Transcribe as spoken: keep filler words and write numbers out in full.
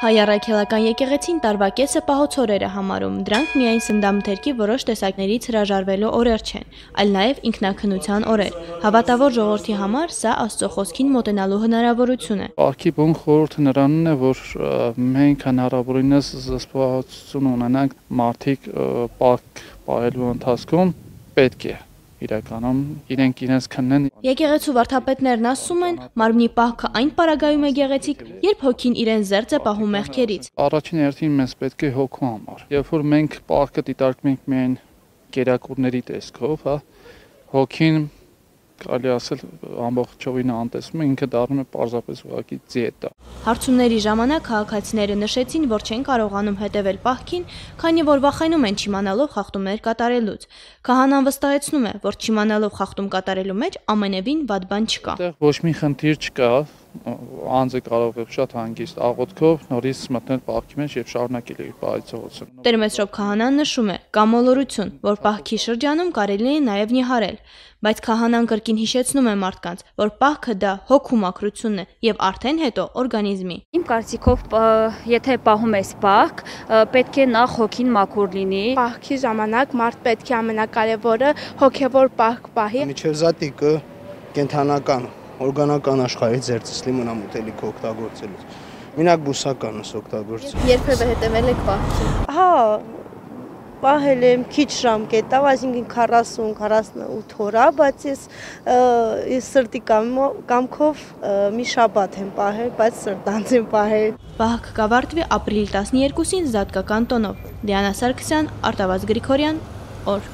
Հայ առաքելական եկեղեցին տարվա կեսը պահոց օրեր է համարում, դրանք միայն սննդամթերքի որոշ տեսակներից հրաժարվելու օրեր չեն, այլ նաև ինքնաքննության օրեր։ Հավատավոր ժողովրդի համար սա Աստծո խոսքին մոտենալու հնարավորություն է։ Պահքի բուն խորհուրդը նրանն է, որ մենք հնարավորինս զսպվածություն ունենանք մարդիկ պահք պահելու ընթացքում պետք է իրականում իրենք իրենց քննեն։ Եկեղեցու վարդապետներն ասում են, մարմնի պահքը այն պարագայում է գեղեցիկ, երբ հոգին իրեն զերծ է պահում մեղքերից։ Առաջին հերթին մեզ պետք է հոգու համար։ Երբ որ մենք պահքը դիտարկում ենք միայն կերակուրների տեսքով, հա, հոգին կարելի ասել ամբողջովին անտեսվում է, ինքը դառնում է պարզապես ուղղակի դիետա։ Հարցումների ժամանակ քաղաքացիները նշեցին, որ չեն կարողանում հետևել պահքին, քանի որ վախենում են չիմանալով խախտումներ կատարելուց։ Քահանան վստահեցնում է, որ չիմանալով խախտում կատարելու մեջ ամենևին վատ բան չկա։ Այդտեղ ոչ մի խնդիր չկա, անձը կարող է շատ հանգիստ աղոթքով նորից մտնել պահքի մեջ եւ շարունակել իր պահիցողությունը։ Տերմեսրոպ քահանան նշում է, կա մոլորություն, որ պահքի շրջանում կարելի է նաեւ նիհարել, բայց քահանան կրկին հիշեցնում է մարդկանց, որ պահքը դա հոգու մաքրությունն է եւ արդեն հետո օրգանիզմի։ Իմ կարծիքով, եթե պահում ես պահք, պետք է նախ հոգին մաքուր լինի։ Պահքի ժամանակ մարդ պետք է ամենակարևորը հոգեվոր պահք պահի։ Միջև կենթանական օրգանական աշխարհից ձերծիսլի մնամ ուտելիք օգտագործելուց։ Մենակ բուսականս օգտագործել։ Երբևէ հետևել եք պահքին։ Հա, պահել եմ քիչ ժամկետով, այսինքն քառասուն քառասունութ օր, բայց ես ես սրտի կամքով մի շաբաթ եմ պահել, բայց սրտանց եմ պահել։ Պահք կավարտվի ապրիլի տասներկուսին զատկական տոնով։ Դիանա Սարգսյան, Արտավազդ Գրիգորյան, օր։